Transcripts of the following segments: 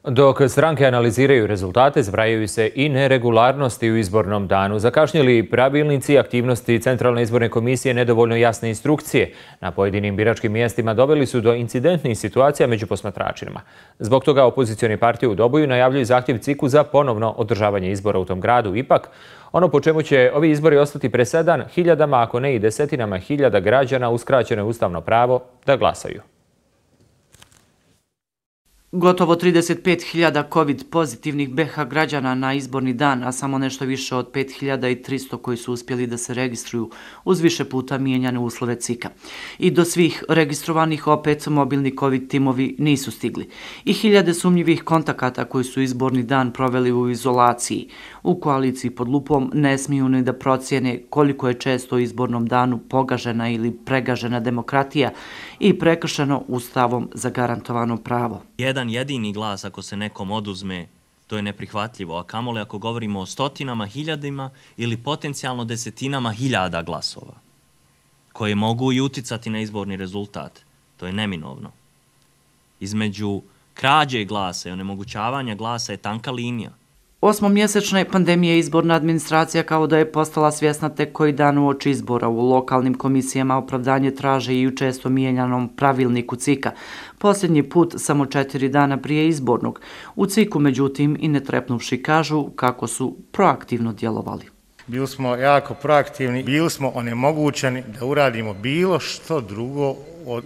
Dok stranke analiziraju rezultate, zbrajaju se i neregularnosti u izbornom danu. Zakašnjeli pravilnici, aktivnosti Centralne izborne komisije, nedovoljno jasne instrukcije na pojedinim biračkim mjestima doveli su do incidentnih situacija među posmatračima. Zbog toga opozicione partije u Doboju najavljuju zahtjev CIK-u za ponovno održavanje izbora u tom gradu. Ipak, ono po čemu će ovi izbori ostati presedan, hiljadama, ako ne i desetinama hiljada građana uskraćeno je ustavno pravo da glasaju. Gotovo 35.000 COVID pozitivnih BiH građana na izborni dan, a samo nešto više od 5.300 koji su uspjeli da se registruju uz više puta mijenjane uslove CIK-a. I do svih registrovanih opet mobilni COVID timovi nisu stigli. I hiljade sumnjivih kontakata koji su izborni dan proveli u izolaciji. U koaliciji pod lupom ne smiju ni da procijene koliko je često u izbornom danu pogažena ili pregažena demokratija i prekršeno Ustavom zagarantovano pravo. Jedan jedini glas ako se nekom oduzme, to je neprihvatljivo, a kamoli ako govorimo o stotinama, hiljadima ili potencijalno desetinama hiljada glasova, koje mogu i uticati na izborni rezultat. To je neminovno. Između krađe glasa i onemogućavanja glasa je tanka linija. Osmomjesečne pandemije izborna administracija kao da je postala svjesna tek koji dan uoči izbora. U lokalnim komisijama opravdanje traže i u često mijenjanom pravilniku CIK-a. Posljednji put samo 4 dana prije izbornog. U CIK-u, međutim, i ne trepnuvši kažu kako su proaktivno djelovali. Bili smo jako proaktivni, bili smo onemogućeni da uradimo bilo što drugo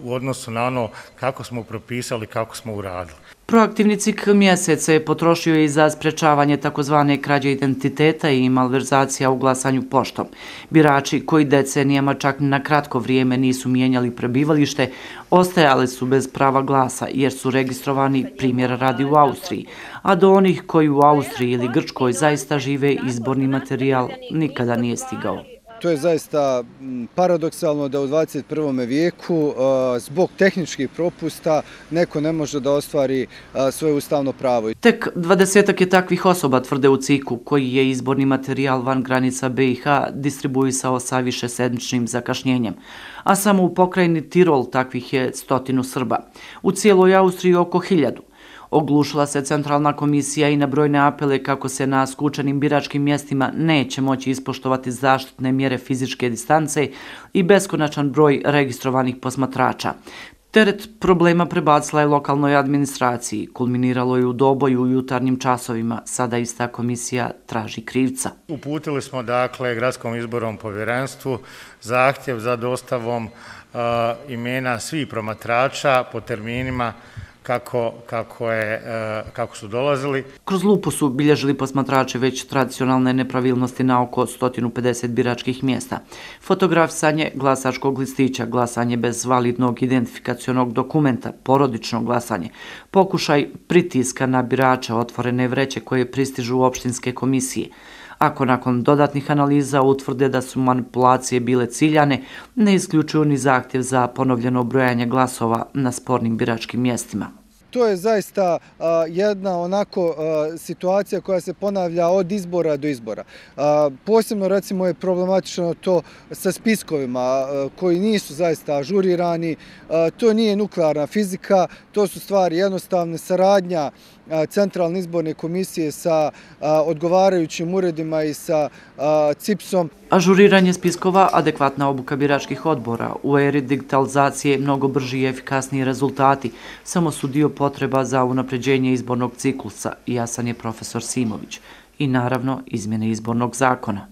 u odnosu na ono kako smo propisali, kako smo uradili. Proaktivni CIK mjesece je potrošio i za sprečavanje takozvane krađe identiteta i malverzacija u glasanju poštom. Birači koji decenijama čak na kratko vrijeme nisu mijenjali prebivalište, ostajali su bez prava glasa jer su registrovani, primjera radi, u Austriji, a do onih koji u Austriji ili Grčkoj zaista žive izborni materijal nikada nije stigao. To je zaista paradoksalno da u 21. vijeku zbog tehničkih propusta neko ne može da ostvari svoje ustavno pravo. Tek 20-ak je takvih osoba, tvrde u CIK-u, koji je izborni materijal van granica BiH distribuisao sa višesedmičnim zakašnjenjem. A samo u pokrajini Tirol takvih je 100 Srba. U cijeloj Austriji oko 1000. Oglušila se Centralna komisija i na brojne apele kako se na skučenim biračkim mjestima neće moći ispoštovati zaštitne mjere fizičke distance i beskonačan broj registrovanih posmatrača. Teret problema prebacila je lokalnoj administraciji, kulminiralo je u Doboju u jutarnjim časovima. Sada ista komisija traži krivca. Uputili smo dakle Gradskom izbornom povjerenstvu zahtjev za dostavom imena svih promatrača po terminima kako su dolazili. Kroz lupu su bilježili posmatrače već tradicionalne nepravilnosti na oko 150 biračkih mjesta. Fotografisanje glasačkog listića, glasanje bez validnog identifikacionog dokumenta, porodično glasanje, pokušaj pritiska na birača, otvorene vreće koje pristižu u opštinske komisije. Ako nakon dodatnih analiza utvrde da su manipulacije bile ciljane, ne isključuju ni zahtjev za ponovljeno brojanje glasova na spornim biračkim mjestima. To je zaista jedna onako situacija koja se ponavlja od izbora do izbora. Posebno recimo je problematično to sa spiskovima koji nisu zaista ažurirani. To nije nuklearna fizika, to su stvari jednostavne, saradnja Centralne izborne komisije sa odgovarajućim uredima i sa CIPS-om. Ažuriranje spiskova, adekvatna obuka biračkih odbora, u eri digitalizacije mnogo brži i efikasniji rezultati, samo su dio potreba za unapređenje izbornog ciklusa, jasan je profesor Simović, i naravno izmjene izbornog zakona.